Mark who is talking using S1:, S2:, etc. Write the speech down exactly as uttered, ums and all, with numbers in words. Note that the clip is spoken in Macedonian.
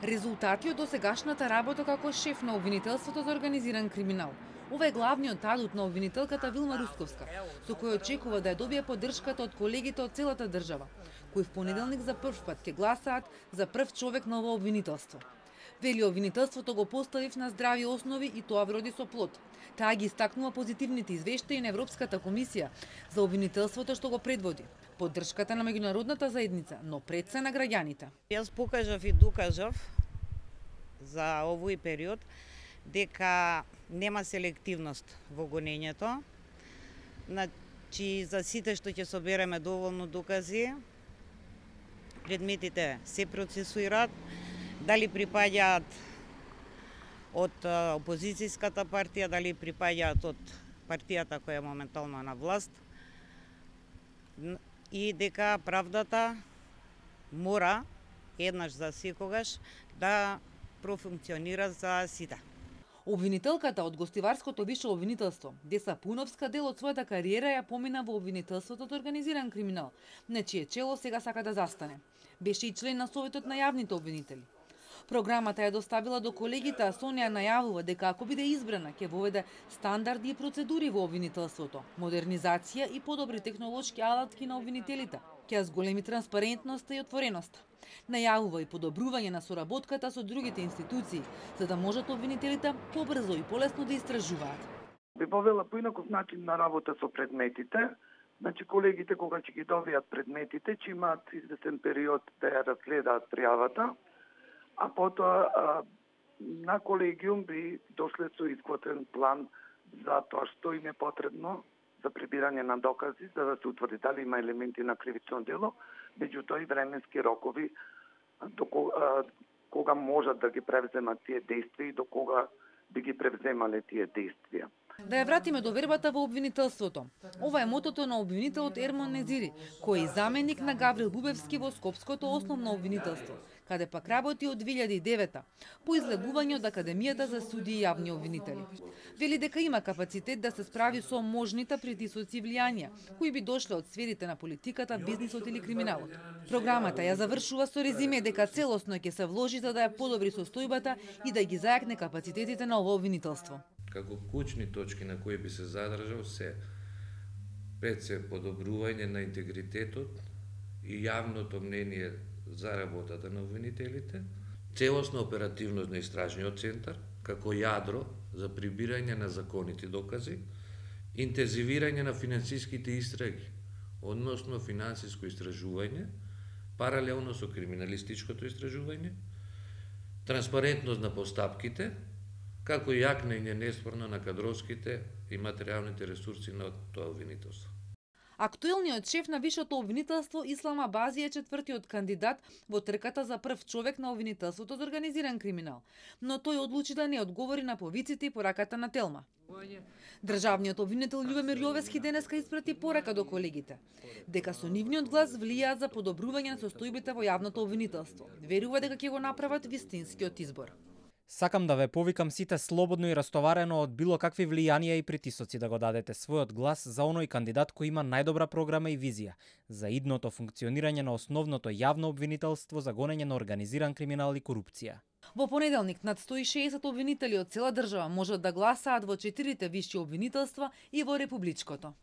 S1: Резултати од досегашната работа како шеф на обвинителството за организиран криминал. Ова е главниот адут на обвинителката Вилма Русковска, со кој очекува да ја добие поддршката од колегите од целата држава, кои в понеделник за прв пат ќе гласаат за прв човек на ова обвинителство. Вели, обвинителството го поставив на здрави основи и тоа вроди со плод. Таа ги истакнува позитивните извештаи на Европската комисија за обвинителството што го предводи, поддршката на меѓународната заедница, но пред се на граѓаните.
S2: Јас покажав и докажав за овој период дека нема селективност во гонењето. Значи, за сите што ќе собереме доволно докази, предметите се процесуираат, дали припаѓаат од опозицијската партија, дали припаѓаат од партијата која е моментално на власт, и дека правдата мора еднаш за секогаш да профункционира за сите.
S1: Обвинителката од гостиварското висше обвинителство, Деса Пуновска, дел од својата кариера ја помина во обвинителството за организиран криминал, на чие чело сега сака да застане. Беше и член на Советот на јавните обвинители. Програмата ја доставила до колегите, а со неа најавува дека ако биде избрана, ќе воведе стандарди и процедури во обвинителството, модернизација и подобри технолошки алатки на обвинителите, ќе зголеми транспарентноста и отвореноста. Најавува и подобрување на соработката со другите институции, за да можат обвинителите побрзо и полесно да истражуваат.
S3: Би повела поинаков начин на работа со предметите. Значи, колегите кога ќе ги добијат предметите, ќе имаат известен период да ја разгледаат пријавата, а потоа а, на колегиум би дошле со изготвен план за тоа што им е потребно за прибирање на докази, за да се утврди дали има елементи на кривично дело, меѓутоа и временски рокови до кога, кога можат да ги превземат тие действија и до кога би ги превземале тие действија.
S1: Да ја вратиме до вербата во обвинителството. Ова е мотото на обвинителот Ермон Незири, кој е заменик на Гаврил Бубевски во Скопското основно обвинителство, каде пак работи од две илјади и девета, по излегување од Академијата за суди и јавни обвинители. Вели дека има капацитет да се справи со можните притисоци и влијанија, кои би дошле од сферите на политиката, бизнисот или криминалот. Програмата ја завршува со резиме дека целосно ќе се вложи за да ја подобри состојбата и да ги зајакне капацитетите на ова обвинителство.
S4: Како клучни точки на кои би се задржал се пред се подобрување на интегритетот и јавното мнение за работата на обвинителите, целосна оперативност на истражниот центар, како јадро за прибирање на законити докази, интензивирање на финансиските истраги, односно финансиско истражување, паралелно со криминалистичкото истражување, транспарентност на постапките, како и јакнење неспорно на кадровските и материјалните ресурси на тоа обвинителство.
S1: Актуелниот шеф на висшето обвинителство Ислам Абази е четвртиот кандидат во трката за прв човек на обвинителството за организиран криминал, но тој одлучи да не одговори на повиците и пораката на Телма. Државниот обвинител Љубомир Јовески денеска испрати порака до колегите, дека со нивниот глас влијаат за подобрување на состојбите во јавното обвинителство. Верува дека ќе го направат вистинскиот избор.
S5: Сакам да ве повикам сите слободно и растоварено од било какви влијанија и притисоци да го дадете својот глас за оној кандидат кој има најдобра програма и визија за идното функционирање на основното јавно обвинителство за гонење на организиран криминал и корупција.
S1: Во понеделник над сто и шеесет обвинители од цела држава можат да гласаат во четирите висши обвинителства и во републичкото.